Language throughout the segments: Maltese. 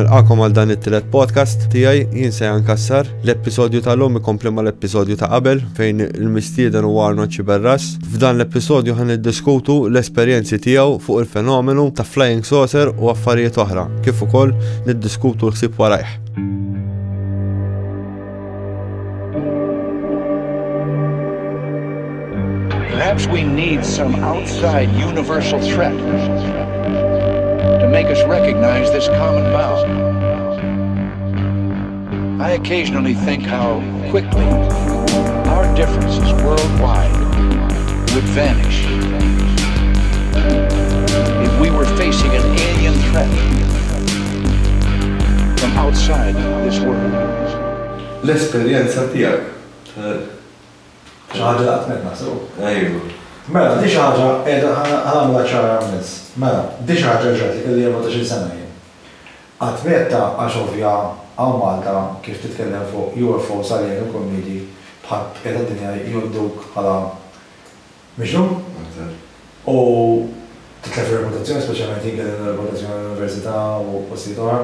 Nilqagħkom għal dan it-tielet podcast tiegħi jien Sejan Cassar. L-episodju tal-lum ikompli mal-episodju ta' qabel fejn il-mistieden huwa Arnold Sciberras. F'dan l-episodju ħa niddiskutu l-esperjenzi tiegħu fuq il-fenomenu ta' flying saucer u affarijiet oħra, kif ukoll niddiskutu l-ħsieb warajh. Perhaps we need some outside universal threat to make us recognize this common bond. I occasionally think how quickly our differences worldwide would vanish if we were facing an alien threat from outside this world. L-esperjenza tiegħek. Xi ħaġa li qatt m'għedna sew. Ejwa. Mela, di xi ħaġa qiegħda ħa nagħmilha ċara immens. Mela, di xi ħaġa ġrat li kelli 14-il sena jien. Qatt m'għedtha għax ovvja hawn Malta kif titkellem fuq UFOs, aljeni u kummidi bħal bqija tad-dinja jgħodduk bħala Miġnun? U titlef ir-reputazzjoni, speċjalment jien kelli reputazzjoni l-università u postijiet oħra.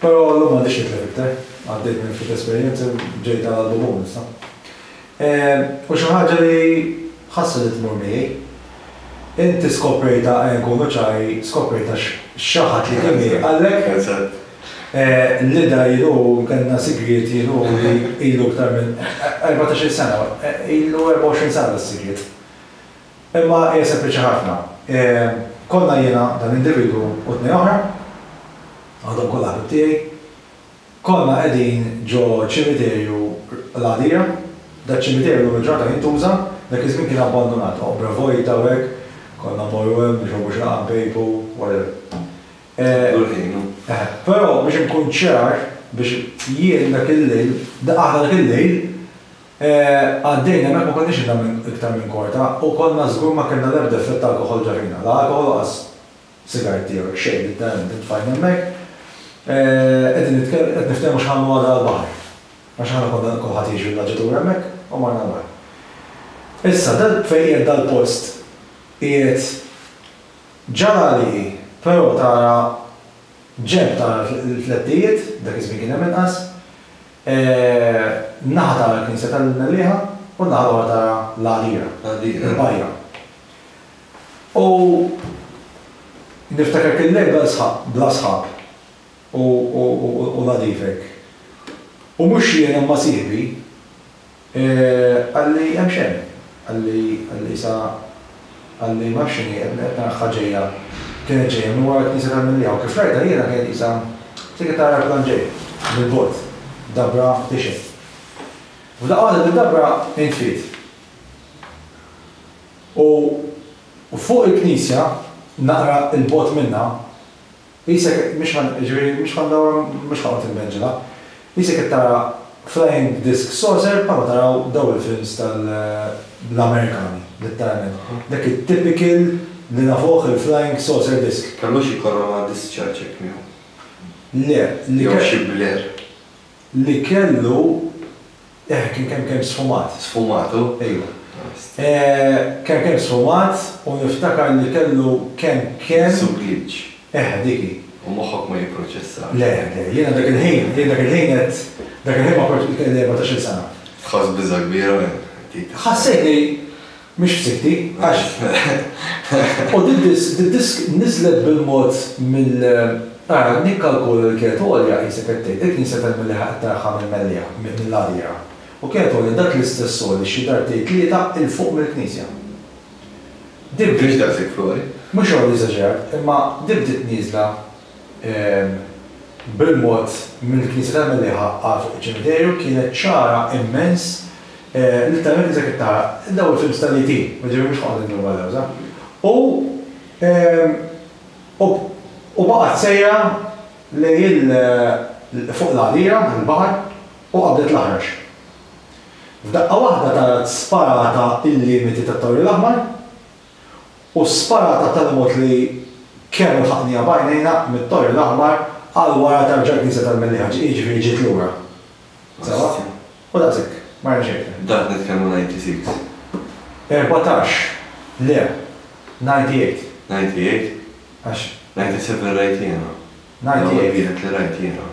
Però llum m'għandix nitlef iktar. Għaddejt minn ftit esperjenzi u ġejt għal bubun issa. U xi ħaġa li ħassa li tmur miegħi. Inti skoprejtha, ejja nkunu ċari, skoprejtha għax xi ħadd li kien miegħi qallek li da jien u kellna sigriet jien u li ilu iktar minn 14-il sena, ilu 24 sena das-sigriet. Imma hija sempliċi ħafna. Konna jiena, dan l-individwu u tnejn oħra, għadhom kollha ħbieb tiegħi, konna qegħdin ġo ċimiterju l-Għadira. Daċ-ċimiterju llum il-ġurnata jintuża, dak iż-żmien kien abbandunat, oqbra vojta u hekk, konna mmorru hemm nixorbu xi laqgħa npejpu, whatever. Taqblu l-ħin, hu. Eħe. Però biex inkun ċar, biex jien dak il-lejl, aħna dak il-lejl, għaddejna hemmhekk ma konniex ilna minn iktar minn kwarta u konna żgur ma kellna l-ebda effett ta' alkoħol ġa fina. La alkoħol u lanqas sigaretti jew hekk, xejn, litteralment intfajna hemmhekk, qegħdin nitkellmu, qed niftehmu x'ħa nagħmlu għada għall-baħar. Għax aħna konna kulħadd jgħix villaġġatur hemmhekk u morna l-baħar. Issa, dal fejn qiegħed dal-post qiegħed Ġara li, però tara ġenb tara l-flettijiet, dak iż-żmien kien hemm inqas, naħa tara l-knisja tal-Mellieħa u n-naħa l-oħra tara l-għadira, il-bajja. U niftakar kien lejl bla sħab u nadif hekk. U mhux jien imma sieħbi, Qalli hemm x'hemm? Qalli, qalli sa, qalli ma nafx x'inhi, qed qed naraha ġejja, kienet ġejja minn wara l-knisja tal-Mellieħa u kif rajtha jiena kienet qisha qisek qed tara arplan ġej mill-bogħod, dabra tixgħel. F'daqqa waħda did-dabra intfiet. U fuq il-knisja, naqra 'l bogħod minnha, Qisek, mhix ħa, jiġifieri mhix ħa ndawwar, mhux ħa noqgħod inbenġilha. Qisek qed tara flying disc saucer bħalma taraw dawn il-films tal l-Amerikani, letteralment. Dak it-typical li nafuh il-flying saucer disc. Kellu xi corona discharge hekk miegħu? Le, li Jew xi blur? Li kellu Eh, kien kemm kemm sfumat. Sfumat hu? Ejwa. Kemm kemm sfumat u niftakar li kellu kemm kemm. Su glitch. Eħe, dik hi. U moħħok ma jipproċessax. Le, le, jiena dak il-ħin, jien dak il-ħin għedt, dak il-ħin ma kont, kelli 14-il sena. Tħoss biża' kbira minn dik. Ħassejtni Mhix f'sikti, għax. U did-disk niżlet bil-mod mill. Ara, nikkalkula li kienet għolja qisek qed tgħid, il-knisja tal-Mellieħa qed taraha mill-Mellieħa, mill-Għadira. U kienet għolja dak l-istess għoli xi darbtejn tlieta 'l fuq mill-knisja. Din bdiet. Mhux daqshekk flori. Mhux għoli eżaġerat, imma din bdiet nieżla bil-mod mill-knisja tal-Mellieħa għal fuq iċ-ċimiterju, kienet ċara immens Literalment qisek qed tara dawn il-films tal-ET, jiġifieri mhux ħa noqgħod indur mal-lewża. U u baqgħet sejra lejn il fuq l-għadira, il-baħar, u qabdet l-aħrax. F'daqqa waħda tara sparata il-limiti tat-Torri l-Aħmar u sparata b'tali mod li kemm ilħaqniha b'għajnejna mit-Torri l-Aħmar għal wara tarġa' l-Knisja tal-Mellieħa, jiġifieri ġiet lura. Sewwa? U daqshekk. Ma rajna xejn iktar. Dak nitkellmu 96. 14, Le. 98. 98? Għax. 97 rajt jiena. L-ewwel wieħed li rajt jiena.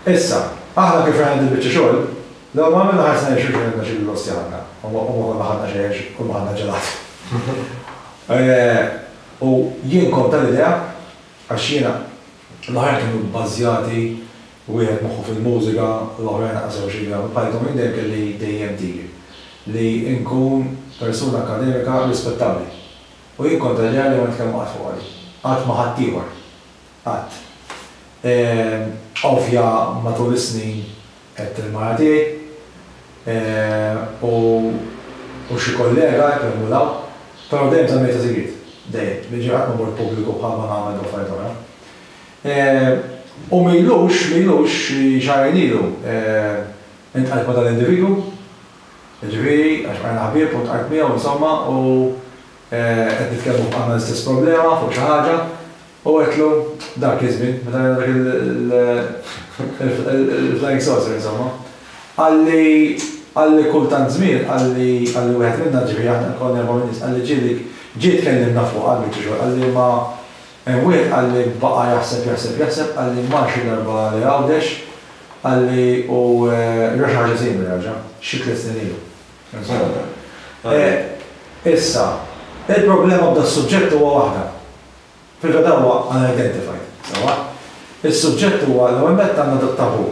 Issa, aħna kif rajna dil-biċċa xogħol, l-ewwel ma għamilna ħarsna lejn xulxin għedna xi l-ostja ħadna, u ma konna ħadna xejn għax kull ma ħadna ġelat. U jien kont tal-idea, għax jiena, l-oħrajn kienu bbażjati, wieħed moħħu fil-mużika, l-oħrajn lanqas jafu xi jagħmlu, bħalkom jien dejjem kelli dejjem dik, li nkun persuna akkademika rispettabbli. U jien kont tal-idea li ma nitkellmu qatt fuqha din. Qatt ma' ħaddieħor. Qatt. Ovvja matul is-snin għedt il-mara tiegħi u u xi kollega hekk hemm u 'l hawn, però dejjem żammejtha sigriet. Dejjem. Jiġifieri qatt ma mort pubbliku bħalma nagħmel b'affarijiet oħra. U m'ilux, m'ilux, xi xahrejn ilu, iltqajt ma' dal-individwu, jiġifieri għax bqajna ħbieb u ltqajt miegħu insomma u qed nitkellmu għandna l-istess problema fuq xi ħaġa u għedtlu dak iż-żmien meta rajna dak il-flying saucer insomma. Qalli qalli kultant żmien qalli qalli wieħed minna ġifieri aħna konna erbgħa min-nies qalli ġieli ġie tkellimna fuqha l-biċċa xogħol qalli imma hemm wieħed qalli baqa' jaħseb jaħseb jaħseb qalli mar xi darba li Għawdex qalli u ra xi ħaġa simili raġa' xi tlett snin ilu. Issa, il-problema b'das-suġġett huwa waħda. Fil-verità huwa unidentified, sewwa? Is-suġġett huwa l-ewwel nett għandna dat-tabù.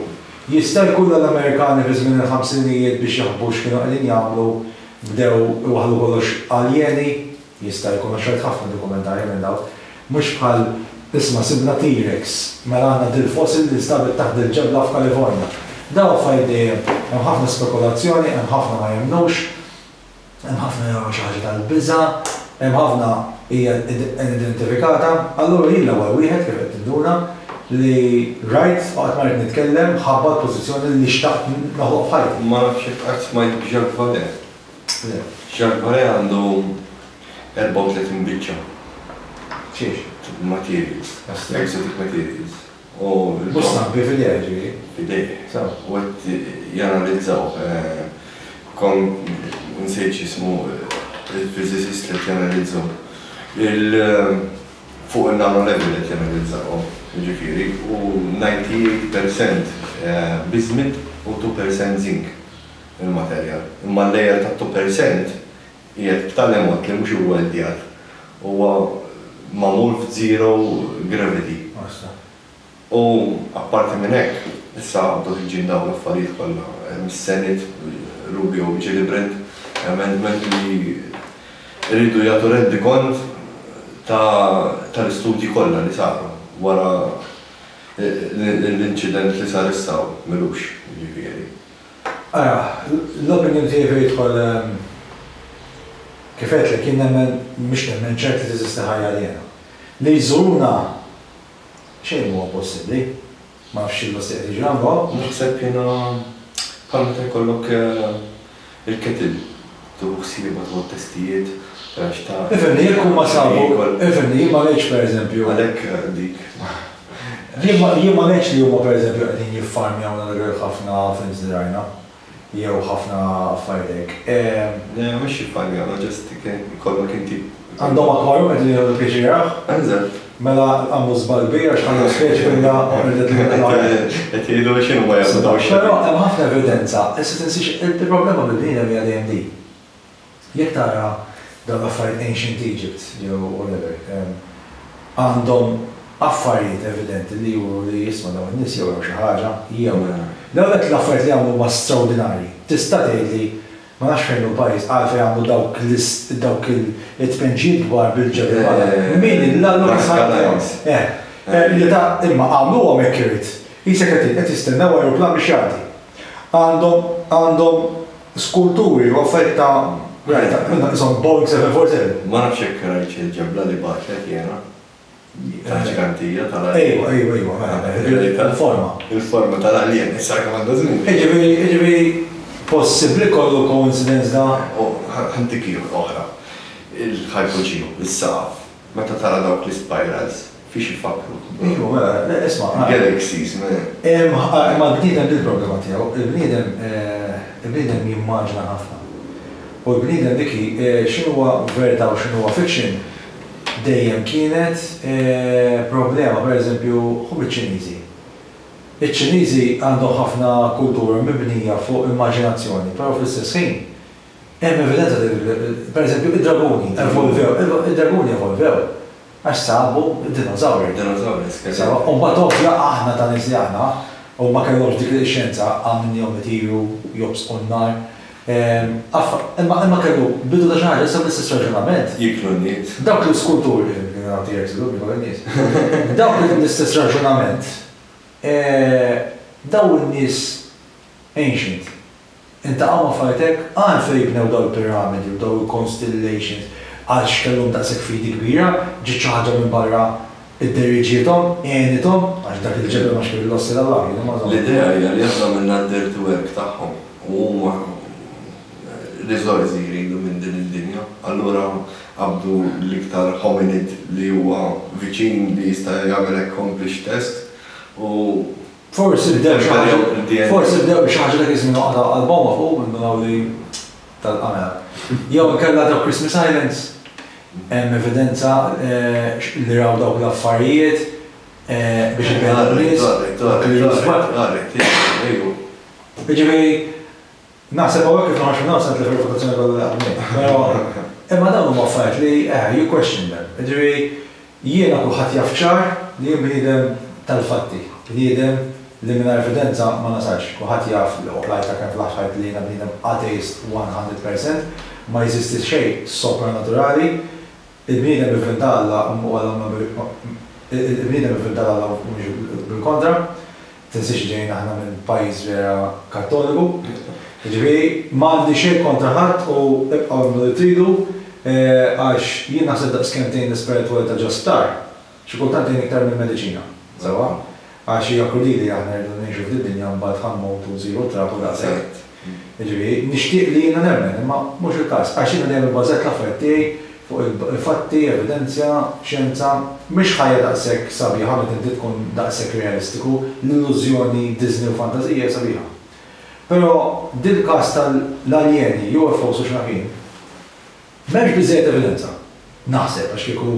Jista' jkun li l-Amerikani fi żmien il-ħamsinijiet biex jaħbu x'kienu qegħdin jagħmlu bdew iwaħħlu kollox aljeni? Jista' jkun għax rajt ħafna dokumentarji minn dawn. Mhux bħal, isma' sibna T-Rex, mela għandna dil-fossil li nstabet taħt dil-ġebla f'Kalifornja. Dawn affarijiet dejjem, hemm ħafna spekulazzjoni, hemm ħafna ma jemmnux, hemm ħafna jaraw xi ħaġa tal-biża', hemm ħafna hija unidentifikata. Allura jien l-ewwel wieħed, kif qed tinduna, li rajt u qatt ma ridt nitkellem ħabba l-pożizzjoni li xtaqt noħloq f'ħajti. Ma nafx jekk qatt smajt b'Jacques Vallée. Le. Jacques Vallée għandu 34 biċċa. Xiex? Materials. Exotic materials. U. Mhux stampi f'idejh ġifieri? F'idejh. Sew. U qed janalizzaw. Kon nsejt x'ismu il-physicist li qed janalizzahom. Il fuq il-nano level qed janalizzawhom, jiġifieri, u 98% bismuth u 2% zinc il-materjal. Imma l-layer tat-2% qiegħed b'tali mod li mhux iwweldjat, huwa magħmul f'zero gravity. U apparti minn hekk, issa bdew ħirġin dawn l-affarijiet kollha, hemm is-Senate, Rubio Gillibrand Amendment li jridu jagħtu rendikont tal-istudji kollha li saru wara l-inċident li sar issa m'ilux, jiġifieri. Ara, l-opinion tiegħi fejn jidħol kif għedtlek jien nemmen, mhux nemmen, ċert li teżisti ħajja aljena. Li jżuruna xejn mhuwa impossibbli. Ma nafx x'il-lesti qed jiġri għandhom. Naħseb jiena bħal meta jkollok il-kettle, tieħu ħsiebha, tieħu t-testijiet, tara x'ta'. Ifhimni, jekk huma sabu, ifhimni, jien ma ngħidx pereżempju. Għalhekk dik. Jien ma jien ma ngħidx li huma pereżempju qegħdin jiffarmjawna dak il ħafna films li rajna jew ħafna affarijiet hekk. Le mhux jiffarmjawna just ikollok inti. Għandhom aquarium qegħdin jieħdu pjaċir jarawh? Eżatt. Mela għamlu żball kbir għax ħallew speċi kollha u qerdet lil Qed jgħidu x'inhuma jagħmlu dawn ix-xebbiet. Però hemm ħafna evidenza, issa tinsiex il-problema bil-bniedem hija dejjem din. Jekk tara dawn l-affarijiet ancient Egypt jew whatever, għandhom affarijiet evidenti li juru li isma' dawn in-nies jew raw xi ħaġa jew. L-ewwel nett l-affarijiet li għamlu huma straordinarji. Tista' tgħidli, ma nafx fejn hu l-pajjiż, għalfejn għamlu dawk dawk it-tpenġijiet kbar bil-ġebel b'għadam. Min il-Alla kif ħa Eh. Li ta' imma għamluhom accurate. Qisek qed tgħid qed jistennew ajruplan biex jgħaddi. Għandhom għandhom Skulturi u affarijiet ta' rajt ta' qishom Boeing 747. Ma nafx jekk rajtx il-ġebla li bagħtlek jiena. Tal-ġgantija tal-alien. Ejwa, ejwa, ejwa, mela, mela, il-forma. Il-forma tal-alien, issa kemm għandha żmien. Jiġifieri, jiġifieri possibbli kollu coincidence da? U ħa ntik oħra. Il-ħajpoġiju, is-saqaf. Meta tara dawk l-ispirals, fiex ifakkru? Iva, mela, le, isma'. Galaxies, man. Imma l-bniedem din il-problema tiegħu, il-bniedem, il-bniedem jimmaġina ħafna. U l-bniedem dik hi, x'inhuwa verità u x'inhuwa fiction, dejjem kienet problema, per eżempju, ħu biċ-Ċiniżi. Iċ-Ċiniżi għandhom ħafna kultura mibnija fuq immaġinazzjoni, però fl-istess ħin hemm evidenza per eżempju, id-draguni evolvew, id-draguni evolvew għax sabu d-dinosawri. Dinosawri, skelet. Sewwa, u mbagħad ovvja aħna ta' nies li aħna, u ma kellhomx dik ix-xjenza għamilniehom itiru, jobsqu n-nar. Imma imma kellu bidu ta' xi ħaġa, issa bl-istess raġunament. Jieklu n-nies. Dawk l-iskulturi, kien hawn T-Rex illum jiekol in-nies. Dawk l-istess raġunament, dawn in-nies ancient, Iltaqgħu ma' affarijiet hekk? Għalfejn bnew dawn il-piramidi u dawn il-constellations? Għalx kellhom daqshekk fidi kbira? Ġiet xi ħaġa minn barra idderiġiethom? Għenithom? Għax dak il-ġebel ma xkien l-ossi t'Allah, jien imma żomm. L-idea hija li aħna għamilna d-dirty work tagħhom u huma riżorsi jridu minn din id-dinja. Allura qabdu l-iktar hominid li huwa viċin li jista' jagħmel accomplish task u Forsi bdew xi ħaġa, forsi bdew b'xi ħaġa dak iż-żmien u qatgħu qalbhom ma fuq indunaw li tal-qamel. Jew inkella dawk Christmas Islands, hemm evidenza li raw dawk l-affarijiet biex ibegħdu n-nies. Jiġifieri, Naħseb hawnhekk kif noħroġ minn hawn se nitlef ir-reputazzjoni kollha li qatt bnejt. Però, imma dawn huma affarijiet li, eħe, you question them. Jiġifieri, jiena kulħadd jaf ċar li jien bniedem tal-fatti, bniedem li mingħajr evidenza ma nasalx. Kulħadd jaf li qrajtha kemm fl-aħħar li jiena bniedem ateist 100%, ma jeżisti xejn sopranaturali, Il-bniedem ivvinta Alla u Alla ma Il-bniedem ivvinta 'l Alla u mhux bil-kontra. Tinsiex li ġejjin aħna minn pajjiż vera Kattoliku. Jiġifieri, m'għandi xejn kontra ħadd u ibqgħu emmnu li tridu għax jien naħseb daqskemm tgħin l-ispiritwalità ġo sptar, xi kultant tgħin iktar mill-mediċina. Sewwa? Għax hija krudili aħna rridu ngħixu f'did-dinja mbagħad ħa mmutu nsiru trab u daqshekk. Jiġifieri, nixtieq li jiena nemmen, imma mhux il-każ, għax jiena dejjem ibbażajt l-affarijiet tiegħi fuq il-fatti, evidenzja, xjenza. Mhix ħajja daqshekk sabiħa meta inti tkun daqshekk realistiku, l-illużjoni, Disney u fantażija hija sabiħa. Però dil-każ tal-aljeni, UFOs u x'naf jien, M'hemmx biżżejjed evidenza. Naħseb, għax kieku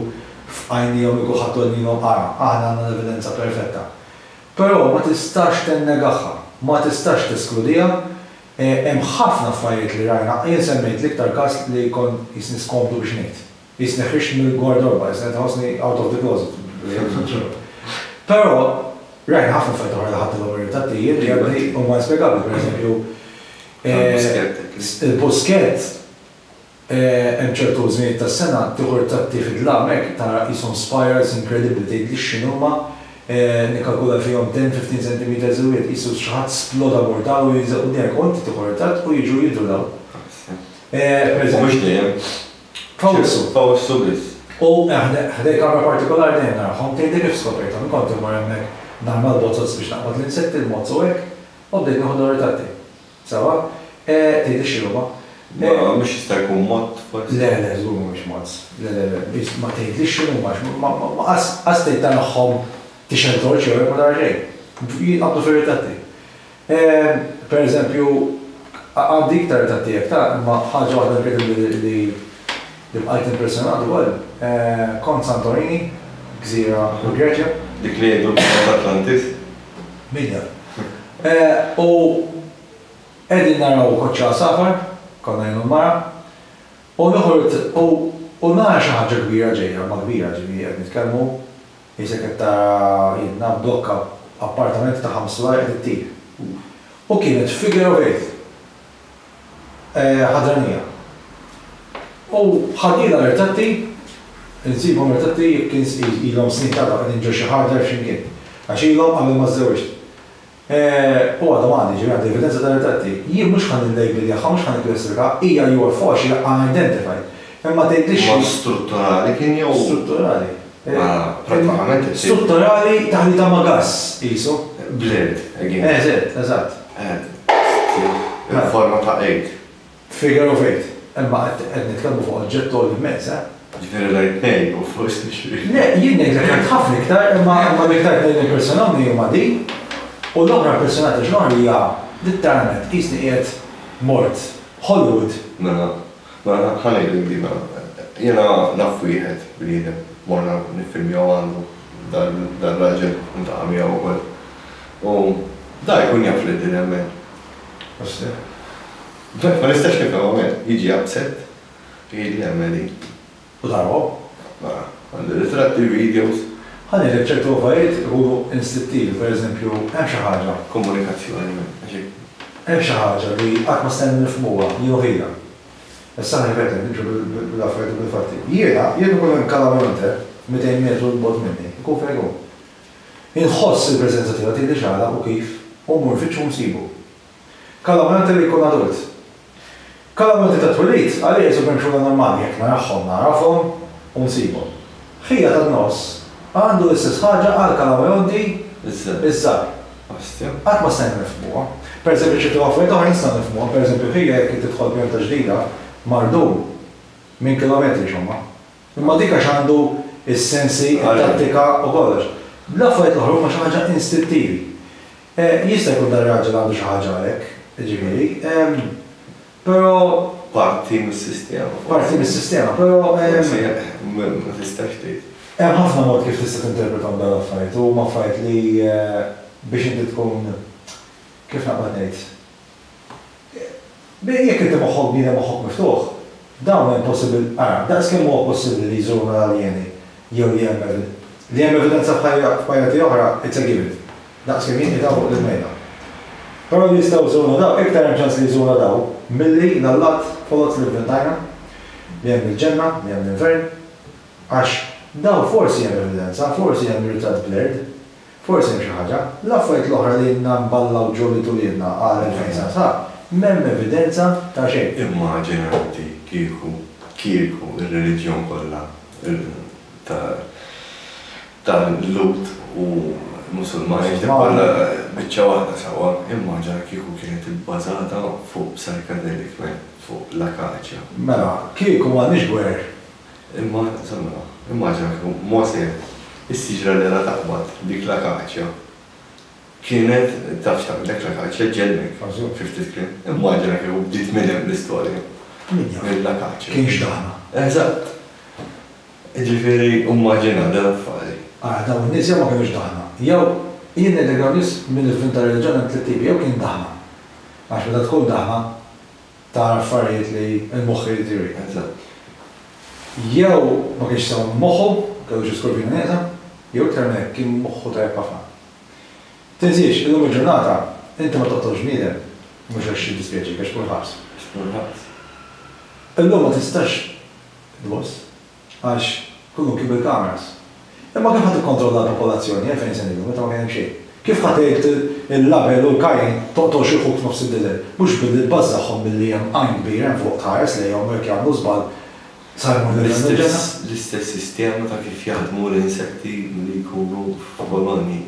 f'għajnejhom li kulħadd għolnilhom ara, aħna għandna l-evidenza perfetta. Però ma tistax tennegagħha, ma tistax teskludiha, hemm ħafna affarijiet li rajna, jien semmejt l-iktar każ li kont qisni skomdu biex ngħid. Qisni ħriġt mill-gwardarba, qisni qed inħossni out of the closet. Però rajna ħafna affarijiet oħra li ħadtilhom ir-ritratti jien li għadni huma inspjegabbli, pereżempju, il-Buskett Hemm ċertu żminijiet tas-sena tieħu ritratti fid-dlam hekk tara qishom spirals inkredibbli tgħidlix x'inhuma, nikkalkula fihom ten, 15 centimetres il-wieħed qisu xi ħadd sploda mortal u jinżel quddiemek u inti tieħu ritratt u jiġu jidhru dawn. U mhux dejjem. F'Awwissu. F'Awwissu biss. U ħdejn kamra partikolari dejjem narahom, tgħidli kif skoprejthom, jien kont immur hemmhekk narma l-bozoz biex naqbad l-insetti, l-mozz u hekk, u bdejt nieħu dawn ir-ritratti. Sewwa? Tgħidli x'inhuma? Ma mhux jista' jkun mod forsi? Le, le, żgur mhumiex mods. Le, le, le, biss ma tgħidlix x'inhuma għax ma qas qas tgħid tarahom tixgħel torċ jew hekk ma tara xejn. Jinqabdu fir-ritratti. Per eżempju, għandi iktar ritratti hekk ta' imma ħaġa waħda inkredibbli li li bqajt impressjonat ukoll, kont Santorini, gżira fil-Greċja. Dik li jgħidu kienet Atlantis? Min jaf. U qegħdin naraw koċċa għasafar, konna jien u l-mara, u noħroġ u u nara xi ħaġa kbira ġejja, imma kbira, ġifieri qed nitkellmu qisek qed tara jien naf blokka appartamenti ta' ħames sulari qed ittir. U kienet figure of eight. Ħadranija. U ħadnielha l-irtatti, insibhom irtatti jekk ilhom snin ta' qegħdin ġo xi hard drive xi mkien. Għax ilhom qabel ma żżewwiġt. U għadhom għandi, jiġifieri għandi evidenza tal-irtatti. Jien mhux ħa nillejbiljaha, mhux ħa nikklassifikaha, hija UFO għax hija unidentified. Imma tgħidlix. Mod strutturali kien jew? Strutturali. Mela, prattikament issir. Strutturali taħlita ma' gass qisu. Blurred, again. Eżett, eżatt. Il-forma ta' eight. Figure of eight. Imma qed nitkellmu fuq oġġett għoli immens, eh? Ġifieri rajt tnejn u forsi xi. Le, jien ngħidlek rajt ħafna iktar, imma imma l-iktar tnejn li impressjonawni huma din u l-oħra impressjonatni għax l-oħra hija litteralment qisni qiegħed mort Hollywood. Mela, mela ħa ngħidlek din mela. Jiena naf wieħed bniedem. Morna niffilmjaw għandu dar-raġel niltaqa' miegħu wkoll. U da jkun jaf li din hemm. Ostia. Ma nistax nifhemha man, jiġi upset, jgħidli hemm qegħdin. U tarahom? Mela, għandi ritratti, videos. Ħa ngħidlek ċertu affarijiet ikunu instittivi, per eżempju, hemm xi ħaġa. Komunikazzjoni, man, għax hekk. Hemm xi ħaġa li qatt ma stajna nifhmuha, jien u ħija. Issa ħa nirrepeti, nimxu bil-affarijiet u bil-fatti. Jiena, jekk ikun hemm Calamonte 200 metru 'l bogħod minni, ikun fejn ikun. Inħoss il-preżenza tiegħu, tgħidlix għala u kif, u mmur nfittxu u nsibu. Calamonte li jkun adult. Calamonte tat-twelid, għalija jisub hemm normali, jekk narahom nagħrafhom u nsibhom. Ħija tan-nofs għandu l-istess ħaġa għal Calamonti iż-żgħar. Ostja. Qatt ma stajna nifhmuha. Per eżempju ċertu affarijiet oħra nistgħu nifhmuha, per eżempju ħija jekk tidħol pjanta ġdida mardum minn kilometri xomma. Imma dik għax għandu s-sensi, it-tattika u kollox. L-affarijiet l-oħra huma xi ħaġa instittivi. Jista' jkun dar-raġel għandu xi ħaġa għalhekk, jiġifieri. Però. Parti mis-sistema forsi. Parti mis-sistema, però. Forsi ma tistax tgħid. Hemm ħafna mod kif tista' tinterpretahom dawn l-affarijiet u huma affarijiet li biex inti tkun, kif naqbad ngħid, jekk inti moħħok bniedem moħħok miftuħ, dawn hemm possibil, ara, daqs kemm huwa possibbli li jżuruna l-aljeni jew li hemm li hemm evidenza f'ħajja f'pajjiżi oħra, it's a given. Daqs kemm jien qiegħda fuq l-mejda. Però li jistgħu jżuruna dawn, iktar hemm ċans li jżuruna dawn milli l-allat foloz li vvintajna, li hemm il-ġenna, li hemm l-infern, għax dawn forsi hemm evidenza, forsi hemm ritratt blurred, forsi hemm xi ħaġa. L-affarijiet l-oħra li ilna nballaw ġo li tuliedna għal 2000 sena sħaħ, m'hemm evidenza ta' xejn. Immaġina inti kieku, kieku r-reliġjon kollha ta' tal-Lhud u Musulmani dik kollha biċċa waħda sewwa, immaġina kieku kienet ibbażata fuq psychedelic man, fuq l-akaċja. Mela, kieku m'għandniex gwerer. Imma, insomma, immaġina kieku Mosè, is-siġra li ra taqbad, dik l-akaċja, kienet taf x'tagħmillek l-akaċja, ġġennek, fi ftit kliem. Immaġina kieku bdiet minn hemm l-istorja. Min jaf. Mill-akaċja. Kienx daħna. Eżatt. Jiġifieri immaġina dan affari. Ara dawn in-nies jew ma kinux daħna, jew, jien ngħidlek dawn in-nies min ivvinta reliġjon hemm tlett tipi, jew kien daħna, għax meta tkun daħna tara affarijiet li l-moħħ irid jurik. Eżatt. Jew ma kienx sew minn moħħu, kellu xi skorpjuna nieqsa, jew iktar minn hekk kien moħħu tajjeb ħafna. Tinsiex, illum il-ġurnata inti ma toqtolx bniedem mhux għax jiddispjaċik, għax tmur ħabs. Għax tmur ħabs. Illum ma tistax Tboss, għax kullimkien bil-kameras. Imma kif ħa tikkontrolla l-popolazzjoni 2000 sena ilu meta ma kien hemm xejn? Kif ħa tgħid lil Abel u l-Kajin toqtolx 'il ħuk f'nofs id-deżert? Mhux billi tbażżagħhom billi hemm għajn kbir hemm fuq tħares lejhom u jekk jagħmlu żball sa jmur lil hemm il-ġenna? L-istess sistema ta' kif jaħdmu l-insetti li jkunu f'kolonji.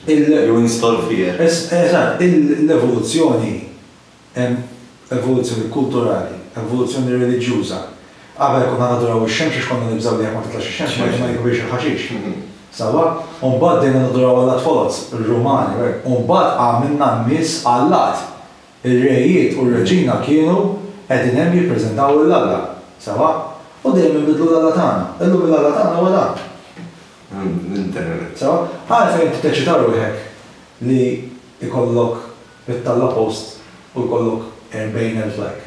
You install fear. Eżatt, l-evoluzzjoni Hemm evoluzzjoni kulturali, evoluzzjoni reliġjuża. Qabel konna naduraw ix-xemx għax konna nibżgħu li jekk ma titlax ix-xemx ma ma jikbirx il-ħaxix. Sewwa? U mbagħad bdejna naduraw allat foloz, ir-Rumani u hekk. U mbagħad għamilna n-nies allat. Ir-rejiet u r-reġina kienu qegħdin hemm jippreżentaw lil Alla. Sewwa? U dejjem inbiddlu l-alla tagħna. Illum il-alla tagħna huwa dan. L-internet. Sewwa? Għalfejn inti teċċita ruħek li jkollok Ittella' post u jkollok 40,000 like.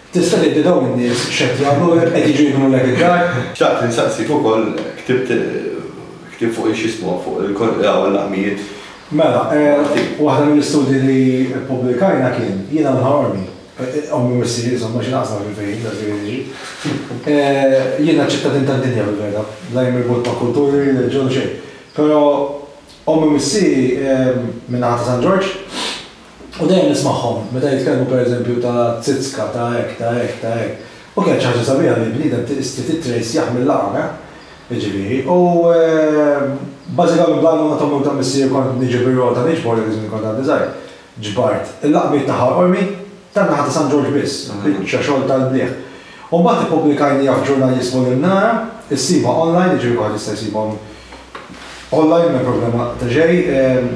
Tista' tgħidli dawn in-nies x'qed jagħmlulek, qed jiġu jibnulek id-dar? Xtaqt insaqsik ukoll ktibt ktieb fuq x'jismu fuq il-laqmijiet. Mela, waħda mill-istudji li ppubblikajna kien, jiena minn Ħal Qormi, ommi u missieri insomma xi naqsam fil-fehim dak li jiġri. Jiena ċittadin tad-dinja fil-verità, la jien mirbut ma' kulturi, reliġjon u xejn. Però Ommi u missieri min-naħa ta' San Ġorġ u dejjem nismagħhom meta jitkellmu pereżempju ta' Zizka, ta' hekk, ta' hekk, ta' hekk. U kienet xi ħaġa sabiħa li l-bniedem tista' tittrejsjah mil-laqam, eh? Jiġifieri. U bażikament bl-għajnuna ta' ommi u ta' missieri kont niġi bir-rota niġbor dak iż-żmien kont għadni żgħir. Ġbart il-laqmiet ta' Ħal Qormi, tan-naħa ta' San Ġorġ biss, biċċa xogħol tal-blieh. U mbagħad ippubblikajniha f'ġurnal jismu L-Imnara, issibha online, jiġifieri kulħadd jista' jsibhom online m'hemm problema ta' xejn.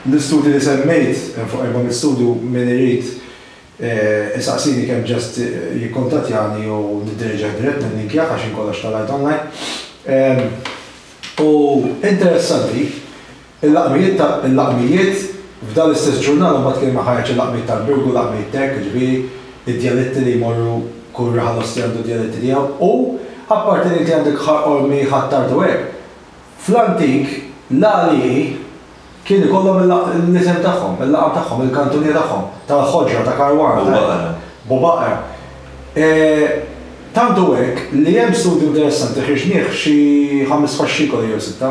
L-istudji li semmejt, hemm fuq 400 studju, min irid. Isaqsini kemm just jikkuntattjani u niddirieġih dirett nillinkjah għax jien kollox tellajt online. U interessanti, il-laqmijiet ta' il-laqmijiet f'dan l-istess ġurnal imbagħad kien hemm ħareġ il-laqmijiet tal-Birgu, laqmijiet t'hekk, jiġifieri id-djaletti li jmorru kull raħal osti għandu d-djaletti tiegħu u apparti li inti għandek Ħal Qormi, Ħ'Attard u hekk, fl-antik l-għalieqi Kien ikollhom l-isem tagħhom, il-laqam tagħhom, il-kantunier tagħhom, tal-ħoġra, ta' Karwana. Bubaqra. Bubaqra. Tant hu hekk li hemm studju interessanti ħriġnieh f'xi ħames faxxikoli jew sitta,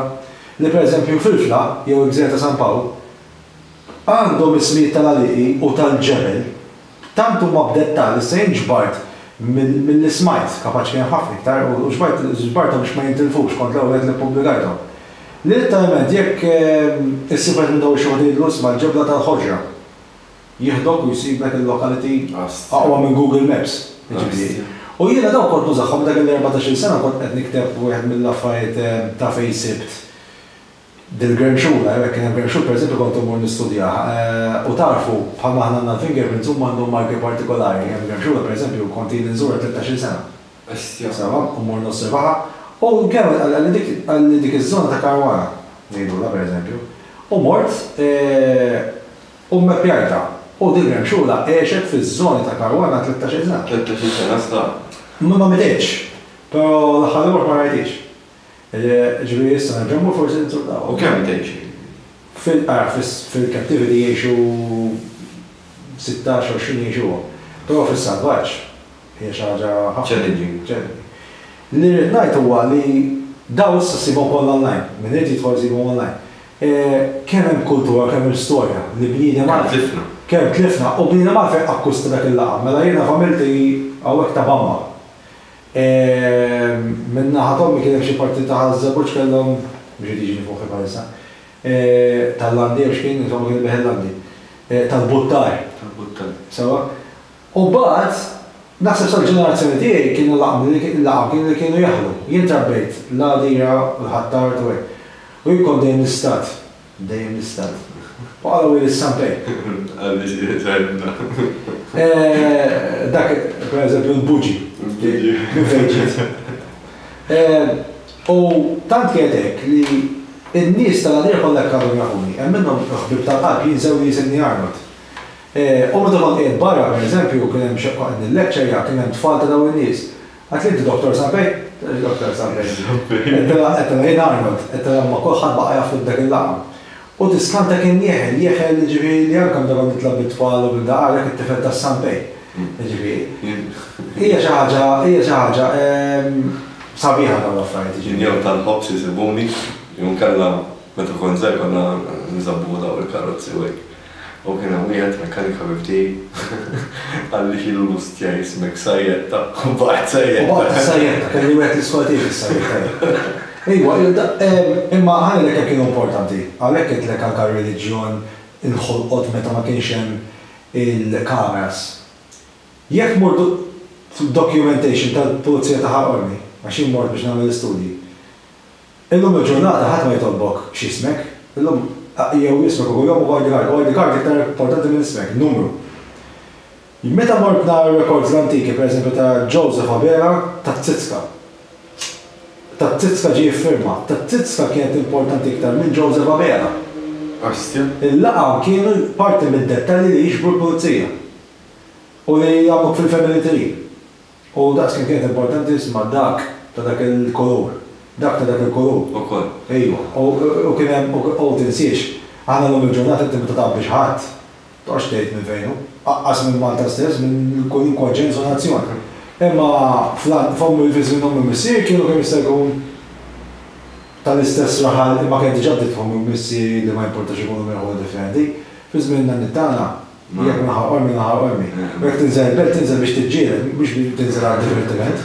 li pereżempju Filfla jew il-Gżira ta' San Pawl għandhom ismijiet tal-għalieqi u tal-ġebel Tant huma b'dettall, issa jien ġbart milli smajt, kapaċi kien hemm ħafna iktar, u ġbart ġbarthom biex ma jintilfux, kont l-ewwel wieħed li ppubblikajthom. Li litteralment jekk issib wieħed minn dawn ix-xogħol tgħidlu isma' l-ġebla tal-ħoġra. Jieħdok u jsiblek il-locality aqwa minn Google Maps, jiġifieri. U jiena dawk kont nużahom meta kelli 14-il sena kont qed nikteb wieħed mill-affarijiet ta' fejn sibt Dil-gremxula, jew jekk kien hemm gremxul pereżempju kont immur nistudjah. U tagħrfu, bħalma aħna għandna l-fingerprints huma għandhom marki partikolari. Hemm gremxula pereżempju kont ili nżurha 13-il sena. Bestja. Sewwa, u mmur nosservaha. U kemm qalli dik qalli dik iż-żona ta' Caruana, ngħidulha pereżempju. U mort u mmeppjajtha. U dil-gremxula għexet fiż-żoni ta' Caruana 13-il sena. 13-il sena sta. Ma mititx, però l-aħħar li mort ma rajthiex. Ġifieri issa nerġa' mmur forsi ninsultawhom. U kemm tgħixi? Fil, ara, fil-captivity jgħixu 16, 20 jgħixuhom. Però fis-salvaġġ hija xi ħaġa ħafna. Challenging. Challenging. Li rrid ngħid huwa li dawn issa ssibhom kollha online. Min irid jidħol isibhom online. Kemm hemm kultura, kemm hemm storja li bniedem Kemm tlifna. Kemm tlifna u bniedem għalfejn akkwista dak il-laqam. Mela jiena familti hawnhekk ta' Bamba. Minn naħa t'ommi kien hemm xi parti ta' Ħaż-Żebbuġ kellhom, mhux qed jiġini f'moħħi bħalissa, tal-Landi jew x'kien, insomma kien ibigħ il-Landi. Tal-Buttar. Tal-Buttar. Sewwa. U mbagħad, naħseb sal-ġenerazzjoni tiegħi kienu laqam il-laqam kien li kienu jaħlu. Jien trabbejt l-Għadira u l-Ħ'Attard u hekk. U jien kont dejjem l-istat. Dejjem l-istat. U qalgħu li s-Sampej. Għalli żgħirna. Dak, per eżempju, l-buġi. Il-buġi. Minn fejn ġiet. U tant kienet hekk li n-nies tal-Għadira kollha hekk għadhom jafuni. Hemm minnhom ħbieb tal-qalb, jien żewġi jisimni Arnold. U meta kont qiegħed barra, per eżempju, kien hemm xi qed nillekċerja, kien hemm tfal ta' dawn in-nies. Għedtli inti Dottor Sampej? Għedtli Dottor Sampej. Għedtilha għedtilha jien Arnold. Għedtilha imma kulħadd baqa' jafni b'dak il-laqam. U tiskanta kien jeħel, jeħel jiġifieri li anke meta kont nitla' bit-tfal u b'da qal dak it-tifel tas-Sampej. Jiġifieri. Hija xi ħaġa, hija xi ħaġa sabiħa dawn l-affarijiet jiġifieri. Jien jew tal-ħobż isibuni, jew inkella meta kont żgħir konna nżabbgħu dawn il-karozzi u hekk. U kien hemm wieħed mekkanik ħabib tiegħi qalli x'inhu l-ustja jismek sajjetta u baqgħet sajjetta. U baqgħet sajjetta, kelli wieħed l-iskola tiegħi fis-sajjetta jien. Ejwa, imma ħa ngħidlek kemm kienu importanti. Għalhekk għedtlek anke r-reliġjon inħolqot meta ma kienx hemm il-kameras. Jekk tmur documentation tal-pulizija ta' Ħal Qormi, għax jien mort biex nagħmel l-istudji, Illum il-ġurnata ħadd ma jitolbok x'ismek. Illum jew ismek u kunjomok u ID card. U ID card iktar importanti minn ismek, numru. Meta mort nara r-records l-antiki, per eżempju ta' Joseph Abela, tat-Tsitska. Tat-Tsitska ġie jiffirma. Tat-Tsitska kienet importanti iktar minn Joseph Abela. Ostja. Il-laqam kienu parti mid-dettalji li jiġbru l-pulizija. U li jagħmluk fil-family tree. U daqs kemm kienet importanti isma' dak ta' dak il-kulur, dak ta' dak il-kulur. Ukoll. Ejwa. U kien hemm, u tinsiex, aħna llum il-ġurnata inti meta tgħabbi xi ħadd, toqgħodx tgħid minn fejn hu. Aqqas minn Malta stess, minn kwalunkwe ġens u nazzjon. Imma f'ommi, fi żmien ommi u missieri kienu kemm jista' jkun tal-istess raħal imma kienet diġà bdiet f'ommi u missieri li ma jimpurtax ikunu minn rħula differenti. Fi żmien in-nanniet tagħna, Jekk minn Ħal Qormi, minn Ħal Qormi. U jekk tinżel il-belt, tinżel biex tiġġieled, mhux biex tinżel għad-divertiment.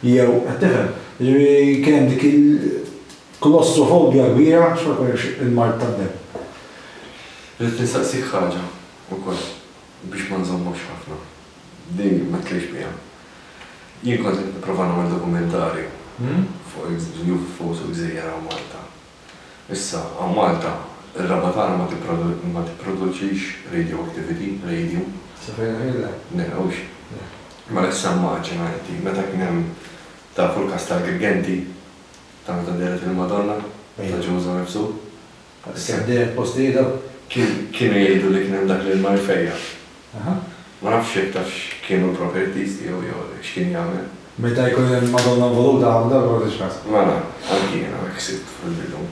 Jew, qed tifhem? Jiġifieri kien hemm dik il-klostrofobja kbira għax ma jkollekx il-mard tad-demm. Ridt nistaqsik ħaġa wkoll biex ma nżommokx ħafna. Din ma tlejx biha. Jien kont qed nipprova nagħmel dokumentarju fuq il-UFOs u l-gżejjer hawn Malta. Issa, hawn Malta. Ir-raba' tagħna ma ma tipproduċix radioactivity, radium. Sa fejn naf jien le. Le, hux? Le. Mela issa immaġina inti meta kien hemm tafu l-każ tal-Girgenti ta' meta dehret il-Madonna ta' Ġuża Mifsud? Kemm dehret postijiet hawn? Kienu jgħidu li kien hemm dak l-ilma jfejjaq. Ma nafx jekk tafx x'kienu l-properties tiegħu jew x'kien jagħmel. Meta jkun hemm Madonna involuta hawn darba ma tagħtix kas. Mela, anki jiena hekk ħsibt fil-bidu.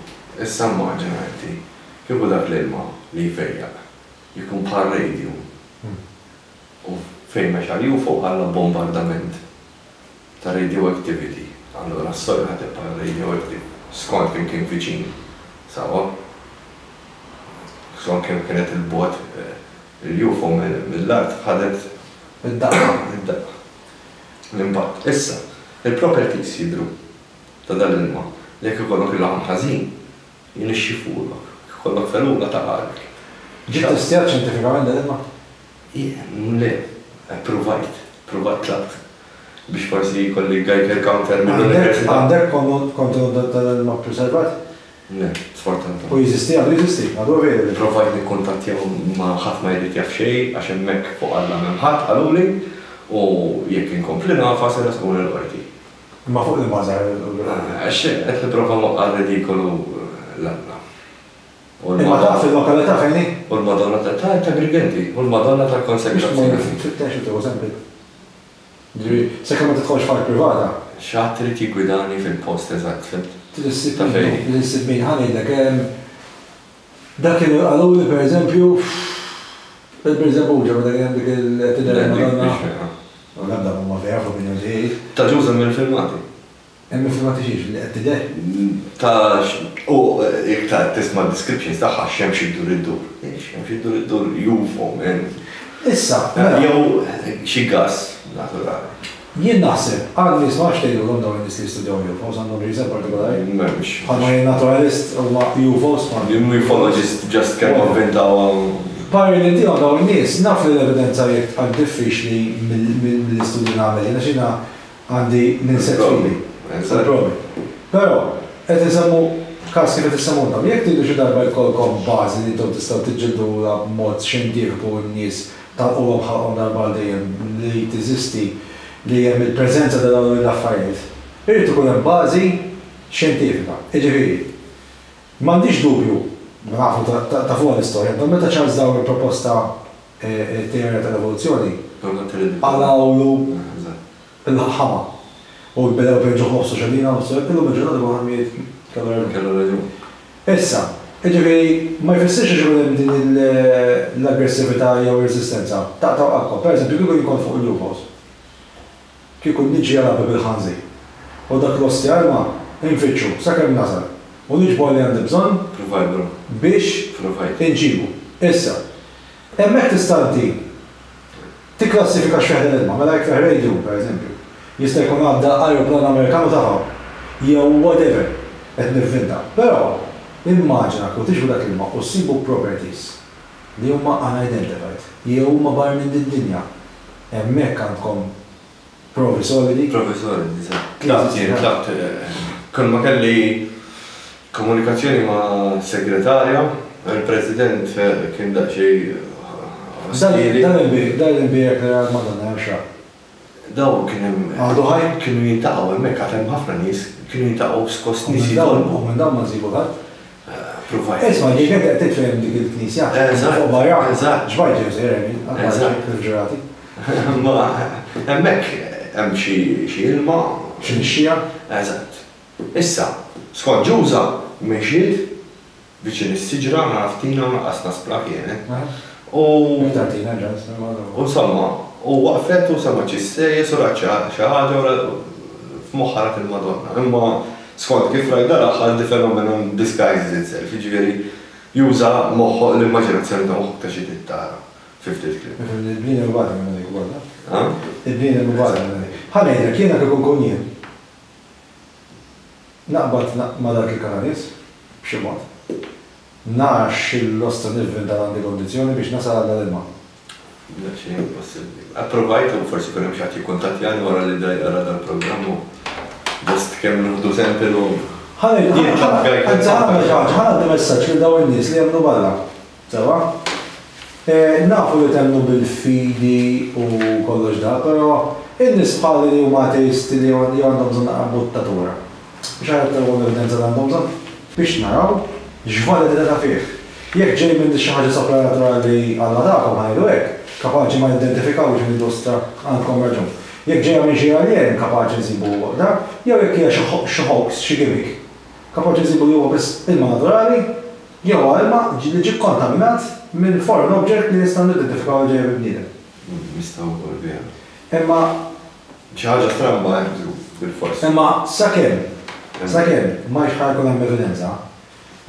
Issa immaġina inti, kieku dak l-ilma li jfejjaq jkun bħal radium u fejn mexa l-UFO ħalla bombardament ta' radioactivity, allura s-soil ħa tibqa' radioactive skont kemm kien viċin, sewwa? Skont kemm kienet 'il bogħod il-UFO mill-art ħadet Id-daqqa. Id-daqqa. L-impatt. Issa, il-properties jidhru ta' dan l-ilma li jekk ikollok il-laħam ħażin, jinixxifulok, jekk ikollok felula taqagħlek. Ġie ttestjat xjentifikament dan l-ilma? Le, ppruvajt, ppruvajt tlabt biex forsi jkolli Geiger counter mill-università. Għandek kontenut ta' dan l-ilma ppreservat? Le, sfortunatament. U jeżisti, għadu jeżisti, għadu available? Provajt nikkuntattjahom imma ħadd ma jrid jaf xejn għax hemmhekk fuq Alla m'hemm ħadd qaluli u jekk inkompli nagħfas iressquni l-qorti. Imma fuq liema żgħar l-qorti? Għax qed nipprova nwaqqa' r-ridikolu 'l Alla. U Imma taf il-lokalità fejn hi? U l-Madonna ta' ta' Agrigenti, u l-Madonna tal-Konsekrazzjoni. Biex tmur tfittex u tieħu sample. Jiġifieri, sakemm ma tidħolx f'art privata. Xi ħadd irid jiggwidani fil-post eżatt, fhimt? Trid issib Ta' min, fejn. trid issib min. Ħa ngħidlek, ehm, dak kienu qaluli pereżempju il-Birżebbuġa meta kien hemm dik il-tidher il-Madonna. U l-ebda m'huma vera fl-opinjoni tiegħi. Ta' Ġuża hemm il-filmati. Hemm il-filmati xiex? Li qed tidher? Ta' u jekk ta' tisma' d-descriptions tagħha x-xemx iddur iddur. Ix-xemx iddur iddur UFO man. Issa, mela. Jew xi gass naturali. Jien naħseb, għal nies ma nafx tgħidulhom dawn in-nies li jistudjaw UFOs għandhom xi isem partikolari? M'hemmx. Bħalma jien naturalist huma UFOs ma. Ufologist just kemm avvintawha. Parir li ntihom dawn in-nies, naf li l-evidenza hi aktar diffiċli mill-istudju li nagħmel jien għax jiena Għandi l-insett f'idi. Il-provi. Però, qed insemmu każ kif qed issemmu intom. Jekk tridu xi darba jkollkom bażi li intom tistgħu tiġġildulha b'mod xjentifiku u n-nies tagħlquhom ħalqhom darba għal dejjem li teżisti li hemm il-preżenza ta' dawn l-affarijiet, irid ikun hemm bażi xjentifika. Jiġifieri, m'għandix dubju, nafu tafuha l-istorja intom, meta Charles Darwin proposta t-teorija tal-evoluzzjoni, qalgħulu l-ħama u bdew ipenġuh nofsu xedina nofsu hekk, illum il-ġurnata kulħadd miet kellu raġun. Kellu raġun. Issa, jiġifieri ma jfissirx għax ikun hemm din l-aggressività jew ir-reżistenza, taqtgħu qalbkom. Pereżempju, kieku jien kont fuq il-UFOs, kieku niġi għal qabel bil-ħanżir u dak l-ostja ilma nfittxu sakemm nasal u niġbor li għandi bżonn biex inġibu. Issa, Hemmhekk tista' inti tikklassifika x'fih dan l-ilma. Mela jekk fih radium, per eżempju, jista' jkun għadda ajruplan Amerikan u tafa', jew whatever, qed nivvinta. Però, immaġina kieku tixbu dak l-ilma u ssibu properties li huma unidentified, jew huma barra minn did-dinja. Hemmhekk għandkom Provi solidi? Provi solidi, eżatt. Tlabt jien, tlabt. Kull ma kelli komunikazzjoni ma' segretarja, il-President kien daqsxejn ostili. Dan il-imbierek li ra l-Madonna hemm x'ra? Dawn kien hemm. Għadu ħaj? Kienu jiltaqgħu hemmhekk, għad hemm ħafna nies, kienu jiltaqgħu skoss nies jitolbu. U minn dawn ma nsibu 'l ħadd? Provajt. Isma' ġieli inti qed tgħid fejn hemm dik il-knisja? Eżatt. Fuq barra? Eżatt. Xbajt ġew sejjer hemm jien, qatt ma rajt xejn ħlief ġrati. Imma hemmhekk hemm xi xi ilma. Xi nixxiegħa? Eżatt. Issa, skont Ġuża, mexiet viċin is-siġra, naf tina u lanqas naspra kienet. U. Iktar tina ġans, imma. U insomma, u waqfet u semgħet xi ssejjes u rat xi ħaġa u f'moħħha rat il-Madonna. Imma skont kif rajt dal-aħħar the phenomenon disguises itself, jiġifieri juża moħħok, l-immaġinazzjoni ta' moħħok ta' xi trid tara. Fi ftit kliem. Ifhimni, il-bniedem ibati minn dik ukoll, taf? Ha? Il-bniedem ibati minn dik. Ħa ngħidlek, jiena kieku nkun jien, naqbad ma' dak il-kananis, b'xi mod, nara x'il-lostra nivvinta għandi kondizzjoni biex nasal għal dal-ilma. Daqsxejn impossibbli. Approvajt u forsi jkun hemm xi ħadd jikkuntattjani wara li da jara dal-programm u just kemm nieħdu sample u. Ħa Jien tlabt Geiger Anzi, ħa nagħmel xi ħaġa, ħa ngħaddi messaġġ lil dawn in-nies li jemmnu b'Alla. Sewwa? Nafu li temmnu bil-fidi u kollox da, però in-nies bħali li huma ateisti li għandhom bżonn naqra buttatura. Biex aħjar tawhom l-evidenza li għandhom bżonn. Biex naraw x'validità ta' fih. Jekk ġej minn xi ħaġa sopranaturali Alla tagħkom, ħa ngħidu hekk, kapaċi ma nidentifikawx u ngħidu ostra għandkom raġun. Jekk ġejja minn xi aljen kapaċi nsibu dak, jew jekk hija xi hoax, xi gimmick, kapaċi nsibu li huwa biss ilma naturali jew huwa ilma li ġie kkontaminat minn foreign object li nistgħu nidentifikaw li ġejja minn bniedem. Nistgħu wkoll biha. Imma. Xi ħaġa stramba hemm żgur, bilfors. Imma sakemm, sakemm ma ħa jkun hemm evidenza,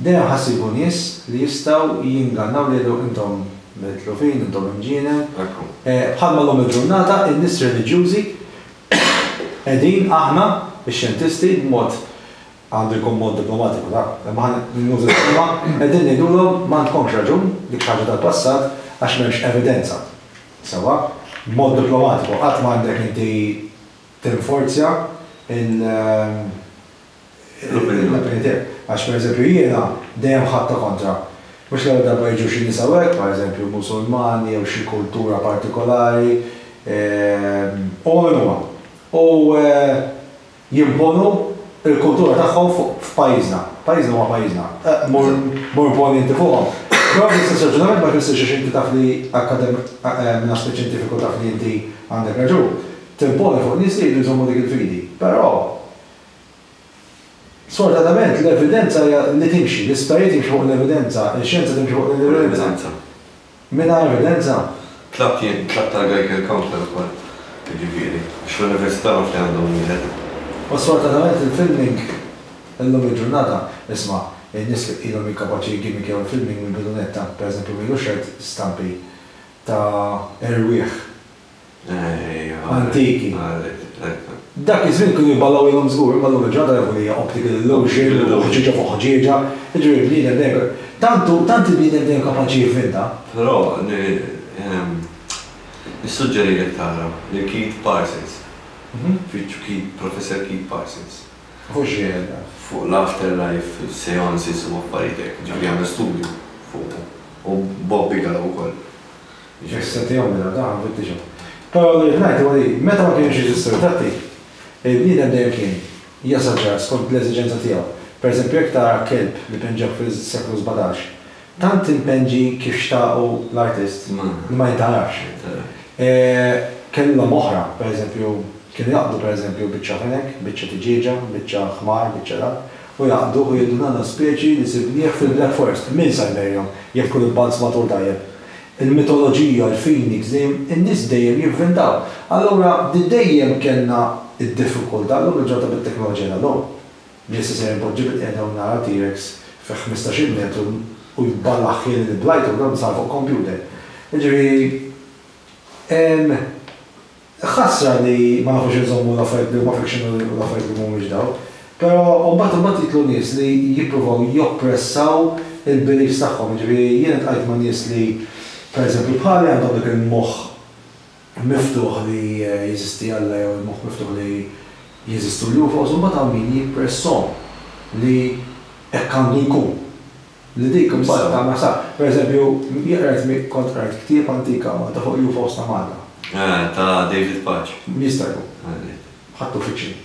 Dejjem ħa ssibu nies li jistgħu jingannaw li jgħidu intom mitlufin, intom imġienen. Bħalma llum il-ġurnata in-nies reliġjużi qegħdin aħna, ix-xjentisti, b'mod, għandu jkun mod diplomatiku dak, imma ħa nuża l-kelma, qegħdin ngħidulhom m'għandkomx raġun, dik xi ħaġa tal-passat għax m'hemmx evidenza. Sewwa? B'mod diplomatiku, qatt m'għandek inti tinforzja il- L-opinjoni tiegħek. Għax pereżempju jiena dejjem ħadtha kontra. Mhux l-ewwel darba jiġu xi nies hawnhekk, pereżempju Musulmani jew xi kultura partikolari, huma min huma. U jimponu l-kultura tagħhom fuq f'pajjiżna. Pajjiżna huwa pajjiżna. Mur mur imponi inti fuqhom. Però bl-istess raġunament ma jfissirx għax inti taf li minn aspett xjentifiku taf li inti għandek raġun, timponi fuq nies li jridu jżommu dik il-fidi. Però Sfortunatament l-evidenza hija li timxi, l-isptarijiet jimxu fuq l-evidenza, ix-xjenza timxi fuq l-evidenza. Mingħajr evidenza. Tlabt jien, tlabt għal Geiger counter ukoll, jiġifieri, għax fl-università naf li għandhom wieħed. U sfortunatament il-filming illum il-ġurnata, isma', in-nies ilhom kapaċi jiggimmikjaw il-filming mill-bidu nett ta', pereżempju m'ilux rajt stampi ta' erwieħ antiki. Dak iż-żmien kienu jballaw ilhom żgur, imma llum il-ġurnata jafu li hija optical illusion u ħġieġa fuq ħġieġa, jiġifieri l-bniedem dejjem tant hu tant il-bniedem dejjem kapaċi jivvinta. Però nissuġġerilek tara lil Keith Parsons. Fittxu Keith, Professor Keith Parsons. Fuq x'jgħid dan? Fuq l-afterlife, seances u affarijiet hekk, jiġifieri għamel studju fuqu. U Bob Bigelow ukoll. Issa tihom mela dan ħa nfittixhom. Però li rrid ngħid huwa li meta ma kienux jeżistu ritratti, il-bniedem dejjem kien jasaġġar skont l-eżiġenza tiegħu. Pereżempju jekk tara kelb li penġewh fis-seklu 17, tant impenġi kif xtaqu l-artist li ma jintgħarafx. Kellhom oħra, pereżempju kienu jaqbdu pereżempju biċċa fenek, biċċa tiġieġa, biċċa ħmar, biċċa dak, u jaqbduh u jgħidu dan hu speċi li sibnieh fil-Black Forest. Min sa jberihom jekk tkun ibbalzmatur tajjeb? Il-mitoloġija, il-phoenix, dejjem, in-nies dejjem jivvintaw. Allura di dejjem kellna d-diffikultà, llum il-ġurnata bit-teknoloġija tal-lum, li issa ser inpoġġi bilqiegħda u nara T-Rex fi ħmistax-il metru u jballaħħieli li blajtu, dan sar fuq computer. Jiġifieri, Ħasra li ma nafux inżommu l-affarijiet li huma fiction u l-affarijiet li mhumiex dawn. Però mbagħad imbagħad jidħlu nies li jippruvaw joppressaw il-beliefs tagħhom. Jiġifieri jien iltqajt ma' nies li pereżempju bħali għandhom dak il-moħħ miftuħ li jeżisti Alla jew il-moħħ miftuħ li jeżistu l-UFOs u mbagħad hawn min jippresshom li hekk għandu jkun. Li dik imbagħad tagħmel ħsara. Per eżempju, jien qrajt kont qrajt ktieb antik hawn Malta fuq UFOs ta' Malta. Eh, ta' David Pace. Jista' jkun. Ħadtu fiction.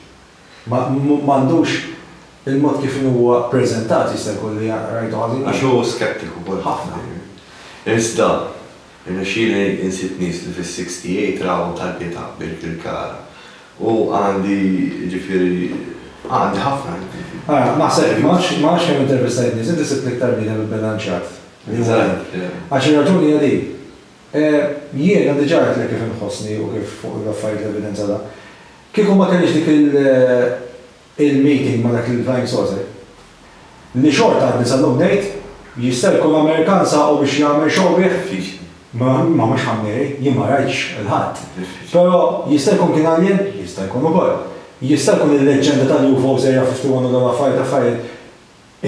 Ma m'għandux il-mod kif inhu huwa ppreżentat jista' jkun li rajtu ħażin. Għax hu skeptiku wkoll. Ħafna. Iżda, irnexxieli insib nies li fis-68 rawhom tal-Pietà bil-Kirkara. U għandi, jiġifieri, għandi ħafna. Ara, naħseb, ma nafx, ma nafx kemm intervistajt nies, inti sibt l-iktar bniedem ibbilanċjat li huwa int. Għax ir-raġuni hija din. Jiena diġà għedtlek kif inħossni u kif fuq l-affarijiet l-evidenza ta'. Kieku ma kellix dik il, il-meeting ma' dak il-flying saucer, li xorta għadni sal-lum ngħid, jista' jkun Amerikan saqu biex jagħmel show bih? Diffiċli. Ma ma mhux ħa mmeri, jien ma rajtx 'il ħadd. Diffiċli. Però jista' jkun kien alien? Jista' jkun ukoll. Jista' jkun il-leġġenda tal-UFOs Area 51 u dawn l-affarijiet affarijiet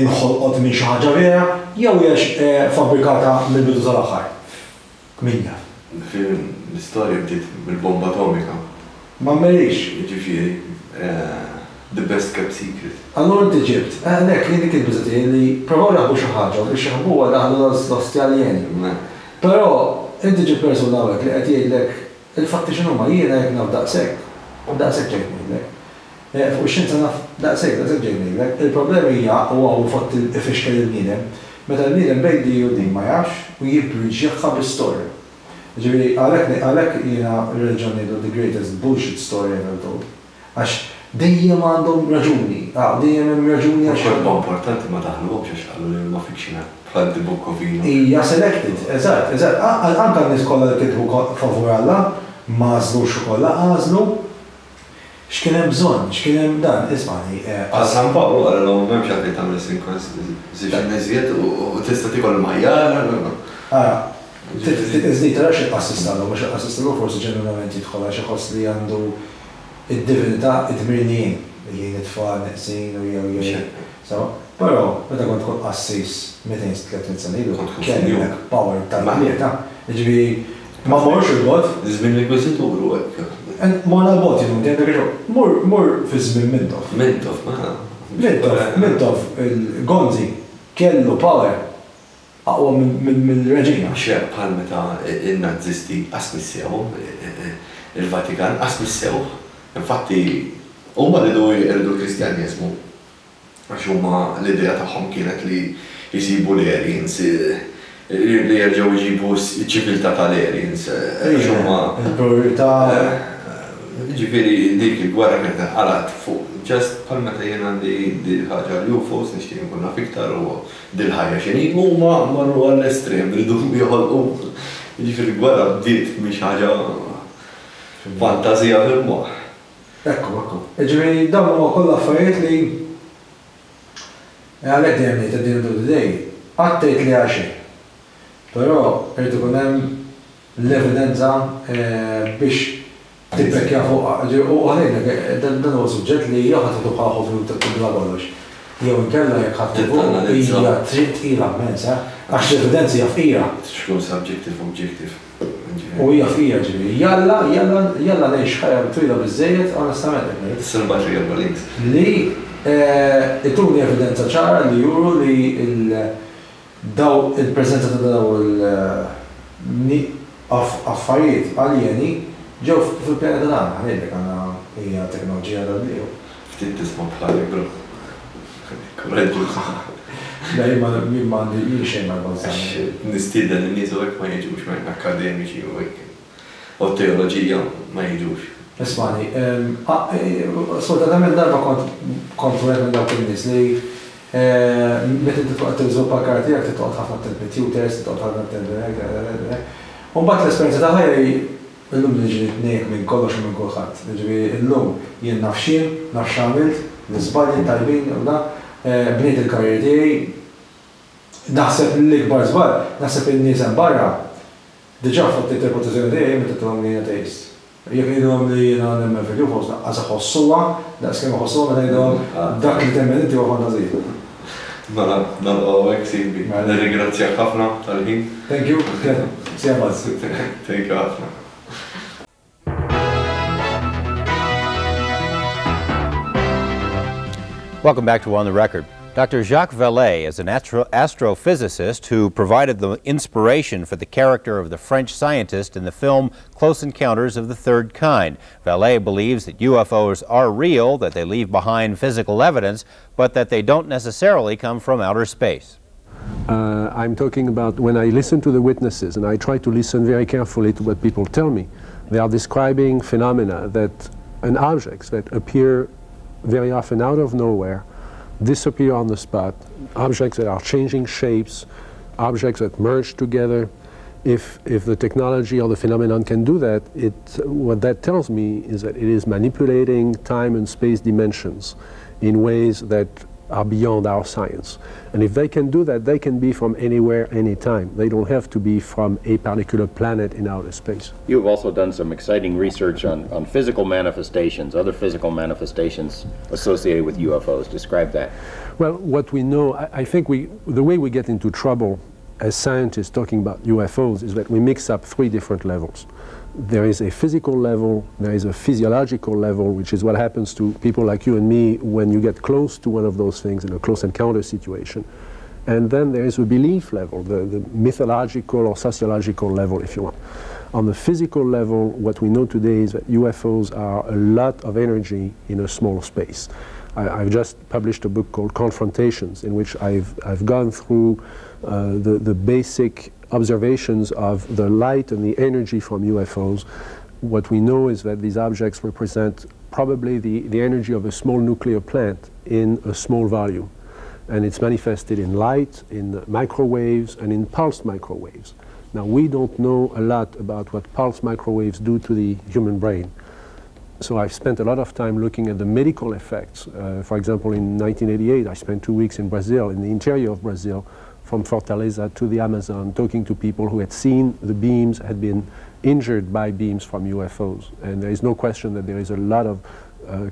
inħolqot minn xi ħaġa vera jew hija fabbrikata mill-bidu sal-aħħar? Min jaf. L-istorja bdiet mill-bomba atomika. Ma mmerix. Jiġifieri. The best kept secret. Allura inti ġibt, għalhekk jien dik il-biża' tiegħi li provaw jaħbu xi ħaġa u biex jaħbuha daħlu l-ostja aljeni. Però inti ġibt persuna hawnhekk li qed jgħidlek il-fatti x'inhuma, jiena jekk naf daqshekk, daqshekk ġejt ngħidlek. Fuq ix-xjenza naf daqshekk, daqshekk ġejt ngħidlek. Il-problema hija, u hawn fatt ifixkel il-bniedem, meta l-bniedem bejn di u di ma jafx u jibbriġjaha bi storja. Jiġifieri għalhekk għalhekk jiena r-reliġjon ngħidlu the greatest bullshit story ever told. Għax dejjem għandhom raġuni, dejjem hemm raġuni għax. U kotba importanti ma daħluhomx għax qalu li huma fictional, bħal The Book of Enoch. Hija selected, eżatt, eżatt. Anke n-nies kollha li kitbu favur Alla, m'għażlux ukoll, għażlu x'kien hemm bżonn, x'kien hemm dan, ismagħni. Għal San Pawl qalilhom m'hemmx għalfejn tagħmel circumcision iżjed u tista' tiekol il-majjal. Ara, Iżda tarax il-qassis tal-lum, għax il-qassis tal-lum forsi ġenwinament jidħol għax iħoss li għandu id-divinità, id-dmir li jgħin, li jgħin it-tfal neqsin u jew jew. Sewwa? Però meta kont tkun qassis 200, 300 sena ilu, kellek power tal-tlieta. Jiġifieri ma mmorrux 'il bogħod. Żmien l-Inkwiżitur u hekk. Morna 'l bogħod jien u inti, għandek raġun. Mur, mur fi żmien Mintoff. Mintoff, mela. Mintoff, Mintoff, il-Gonzi kellu power. Aqwa mill-reġina. Mhux hekk bħal meta n-Nazisti qas missewhom, il-Vatikan qas missewh. Infatti huma riedu jeqirdu l-Kristjaneżmu għax huma l-idea tagħhom kienet li jsibu l-Aryans, li jerġgħu jġibu ċ-ċiviltà tal-Aryans għax huma. Il-purità. Jiġifieri dik il-gwerra kienet inqalgħet fuq just bħal meta jien għandi dil-ħaġa l-UFOs nixtieq inkun naf iktar u Dil-ħajja x'inhi? Huma marru għall-estrem, riedu joħolqu, jiġifieri l-gwerra bdiet minn xi ħaġa fantażija fil-moħħ. Ekku, ekku. Jiġifieri dawn huma kollha affarijiet li għalhekk dejjem ngħid at the end of the day, qatt tgħid le għal xejn. Però irid ikun hemm l-evidenza biex Tibbekkja fuqha. Ġifieri, u ħa ngħidlek, dan huwa suġġett li jew ħa tieħdu bħala hobby u tibla kollox, jew inkella jekk ħa tieħu hija triq tqila immens, eh! Għax l-evidenza hija fqira. Tkun subjective objective. U hija fqira ġifieri. Jalla, jalla, jalla ngħix ħajja twila biżżejjed, onestament qed ngħid. Tista' nibgħatlek erba' links. Li ituni evidenza ċara li juru li l Daw il-preżenza ta' daw il affarijiet aljeni ġew fil-pjaneta tagħna, ħa ngħidlek għandna hija teknoloġija tal-bniedem. Ftit tisma' bħali bro. Kuraġġuż. Le jien ma jien ma għandi jien xejn ma jbażżagħni. Għax nistieden lin-nies u hekk ma jiġux ma akkademiċi u hekk. U t-teoloġija ma jiġux. Ismagħni, sfortunatament darba kont kont wieħed minn dawk in-nies li meta inti tkun qed tiżviluppa l-karriera tiegħek trid toqgħod ħafna attent mit-tutors, trid toqgħod ħafna attent minn hekk, minn hekk. U mbagħad l-esperjenza ta' ħajja hi illum niġi nitnejjek minn kollox u minn kulħadd. Jiġifieri illum jien naf x'jien, naf x'għamilt, l-iżbalji t-tajbin u da, bnejt il-karriera tiegħi. Naħseb l-ikbar żball, naħseb in-nies hemm barra Diġà fottiet ir-reputazzjoni tiegħi meta għedtilhom li jien ateist. Jekk ngħidilhom li jiena nemmen fil-UFOs lanqas iħossuha daqs kemm iħossuha meta ngħidilhom dak li temmen inti huwa fantażija. Mela, nagħlqu hawnhekk Silvi. Nirringrazzjak ħafna tal-ħin. Thank you. See ya buzz. Thank you ħafna. Welcome back to On the Record. Dr. Jacques Vallée is an astrophysicist who provided the inspiration for the character of the French scientist in the film Close Encounters of the Third Kind. Vallée believes that UFOs are real, that they leave behind physical evidence, but that they don't necessarily come from outer space. I'm talking about when I listen to the witnesses, and I try to listen very carefully to what people tell me, they are describing phenomena that, and objects that appear very often out of nowhere, disappear on the spot, objects that are changing shapes, objects that merge together. If the technology or the phenomenon can do that, what that tells me is that it is manipulating time and space dimensions in ways that are beyond our science. And if they can do that, they can be from anywhere, anytime. They don't have to be from a particular planet in outer space. You have also done some exciting research on physical manifestations, other physical manifestations associated with UFOs. Describe that. Well, what we know, I think the way we get into trouble as scientists talking about UFOs is that we mix up three different levels. There is a physical level, there is a physiological level, which is what happens to people like you and me when you get close to one of those things in a close encounter situation. And then there is a belief level, the mythological or sociological level, if you want. On the physical level, what we know today is that UFOs are a lot of energy in a small space. I've just published a book called Confrontations, in which I've gone through the basic observations of the light and the energy from UFOs. What we know is that these objects represent probably the energy of a small nuclear plant in a small volume. And it's manifested in light, in microwaves, and in pulsed microwaves. Now, we don't know a lot about what pulsed microwaves do to the human brain. So I've spent a lot of time looking at the medical effects. For example, in 1988, I spent 2 weeks in Brazil, in the interior of Brazil, from Fortaleza to the Amazon, talking to people who had seen the beams, had been injured by beams from UFOs. And there is no question that there is a lot of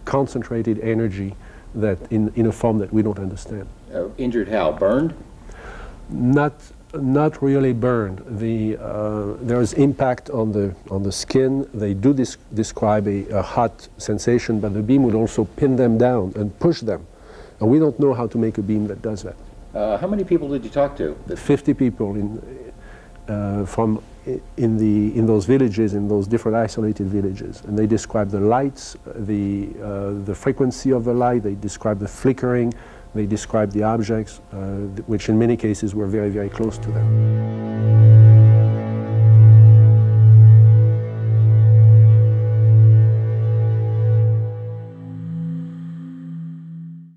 concentrated energy that in a form that we don't understand. Injured how? Burned? Not really burned. There is impact on the skin. They do describe a hot sensation, but the beam would also pin them down and push them. And we don't know how to make a beam that does that. How many people did you talk to? 50 people in those villages, in those different isolated villages, and they describe the lights, the frequency of the light. They describe the flickering. They describe the objects, which in many cases were very, very close to them.